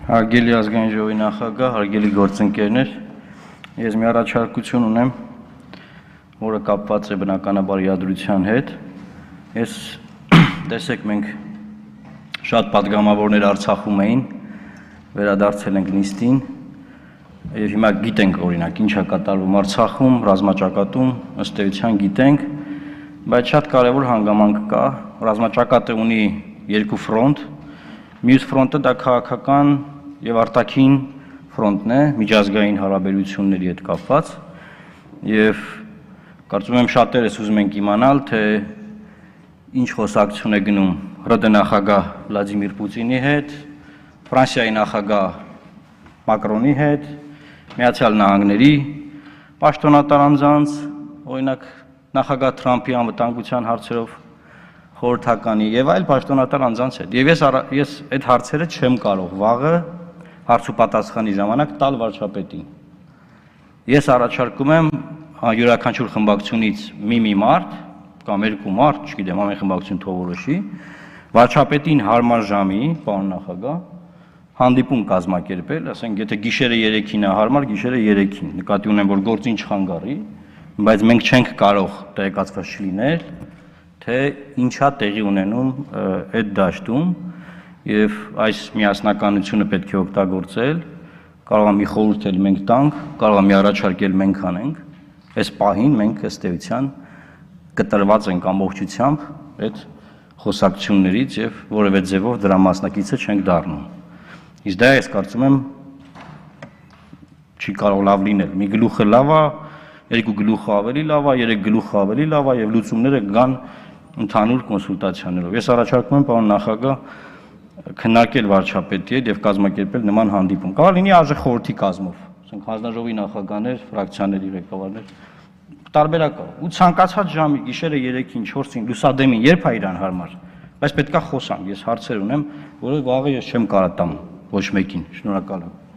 Հարգելի ազգային ժողովի նախագահ, հարգելի գործընկերներ, ես մի առաջարկություն ունեմ, որը կապված է բնականաբար իրադրության հետ։ Ես տեսեք մենք շատ պատգամավորներ Արցախում էին, վերադարձել ենք նիստին եւ հիմա գիտենք օրինակ ինչ է կատարվում Արցախում, ռազմաճակատում, ըստ էության գիտենք, բայց շատ կարևոր հանգամանք կա, ռազմաճակատը ունի երկու ֆրոնտ, մյուս ֆրոնտը դա քաղաքական եւ արտաքին ֆրոնտն է, միջազգային հարաբերությունների հետ կապված եւ կարծում եմ շատերս ուզում ենք իմանալ, թե ինչ խոսակցություն է գնում ՌԴ նախագահ Վլադիմիր Պուտինի հետ, Ֆրանսիայի նախագահ Մակրոնի հետ, Միացյալ Նահանգների պաշտոնատար անձանց, օրինակ նախագահ Թրամփի անվտանգության հարցերով խորհրդականի եւ այլ պաշտոնատար անձանց հետ։ Եվ ես այդ հարցերը չեմ կարող վաղը հարց ու պատասխանի ժամանակ տալ վարչապետին։ Ես առաջարկում եմ յուրաքանչյուր խմբակցությունից մի մարդ կամ երկու մարդ, չգիտեմ, ամեն խմբակցություն թող որոշի, վարչապետին հարմար ժամի, պարոն նախագահ, հանդիպում կազմակերպել, ասենք, եթե գիշերը 3-ին է հարմար, գիշերը 3-ին, նկատի ունեմ, որ գործին չխանգարի, բայց մենք չենք կարող տեղեկացված չլինել, թե ինչա տեղի ունենում այդ դաշտում եւ այս միասնականությունը պետք է օգտագործել, կարող է մի խորհուրդ էլ մենք տանք, կարող է մի առաջարկել մենք անենք, այս պահին մենք ըստ էության կտրված ենք ամբողջությամբ այդ խոսակցություններից եւ որևէ ձևով դրա մասնակիցը չենք դառնում։ Իսկ դա ես կարծում եմ չի կարող լավ լինել։ Մի գլուխը լավ է, երկու գլուխը ավելի լավ է, երեք գլուխը ավելի լավ է եւ լուծումները կգան ընդհանուր կոնսուլտացիաներով։ Ես առաջարկում եմ պարոն նախագահ քննարկել վարչապետի հետ եւ կազմակերպել նման հանդիպում։ Կարող լինի ԱԺ կազմով, ասենք հանձնաժողովի նախագահներ, ֆրակցիաների ղեկավարներ, տարբերակ է։ Ու ցանկացած ժամի գիշերը 3-ին, 4-ին, լուսադեմին երբ է իրան հարմար, բայց պետքա խոսանք։ Ես հարցեր ունեմ, որը վաղը ես չեմ կարող տամ ոչ մեկին։ Շնորհակալ եմ։